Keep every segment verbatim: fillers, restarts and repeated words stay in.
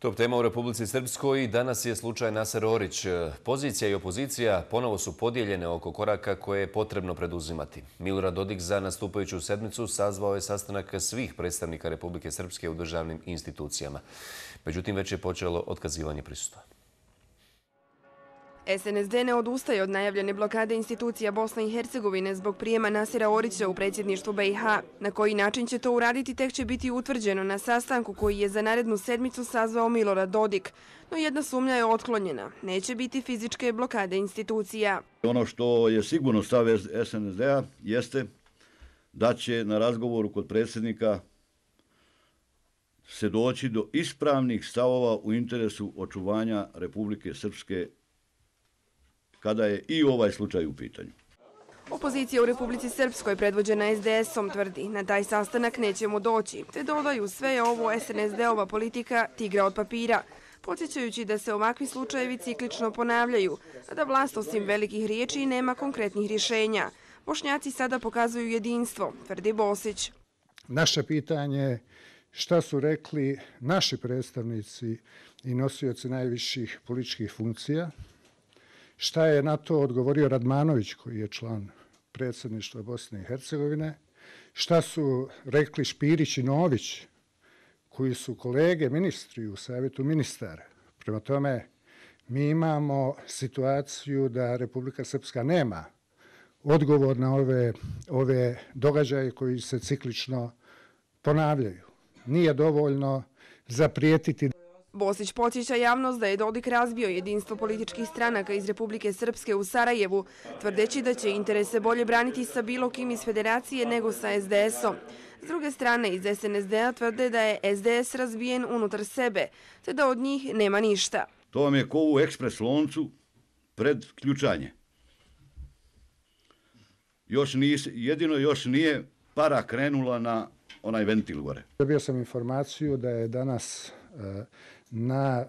Top tema u Republici Srpskoj danas je slučaj Naser Orić. Pozicija i opozicija ponovo su podijeljene oko koraka koje je potrebno preduzimati. Milorad Dodik za nastupajuću sedmicu sazvao je sastanak svih predstavnika Republike Srpske u državnim institucijama. Međutim, već je počelo otkazivanje prisustva. S N S D ne odustaje od najavljene blokade institucija Bosne i Hercegovine zbog prijema Nasera Orića u predsjedništvu B i H. Na koji način će to uraditi tek će biti utvrđeno na sastanku koji je za narednu sedmicu sazvao Milorad Dodik. No jedna sumnja je otklonjena. Neće biti fizičke blokade institucija. Ono što je sigurno stav S N S D-a jeste da će na razgovoru kod predsjednika se doći do ispravnih stavova u interesu očuvanja Republike Srpske kada je i ovaj slučaj u pitanju. Opozicija u Republici Srpskoj predvođena S D S-om tvrdi na taj sastanak nećemo doći, te dodaju sve je ovo S N S D-ova politika tigra od papira, podsjećajući da se ovakvi slučajevi ciklično ponavljaju, a da vlast osim velikih riječi nema konkretnih rješenja. Bošnjaci sada pokazuju jedinstvo, tvrdi Bosić. Naše pitanje je šta su rekli naši predstavnici i nosioci najviših političkih funkcija. Šta je na to odgovorio Radmanović, koji je član predsjedništva Bosne i Hercegovine? Šta su rekli Špirić i Nović, koji su kolege ministri u Savjetu ministara? Prema tome, mi imamo situaciju da Republika Srpska nema odgovor na ove, ove događaje koji se ciklično ponavljaju. Nije dovoljno zaprijetiti. Bosić podsjeća javnost da je Dodik razbio jedinstvo političkih stranaka iz Republike Srpske u Sarajevu, tvrdeći da će interese bolje braniti sa bilo kim iz federacije nego sa S D S-om. S druge strane, iz S N S D-a tvrde da je S D S razbijen unutar sebe, te da od njih nema ništa. To vam je ko u ekspres loncu pred ključanje. Još nis, jedino još nije para krenula na onaj ventil gore. Dobio sam informaciju da je danas na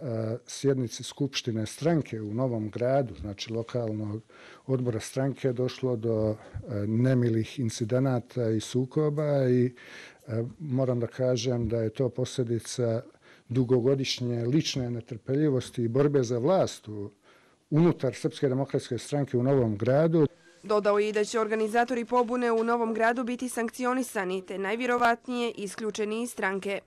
sjednici Skupštine stranke u Novom Gradu, znači lokalnog odbora stranke, došlo do nemilih incidenata i sukoba i moram da kažem da je to posljedica dugogodišnje lične netrpeljivosti i borbe za vlast unutar Srpske demokratske stranke u Novom Gradu. Dodao je i da će organizatori pobune u Novom Gradu biti sankcionisani, te najvjerovatnije isključeni iz stranke.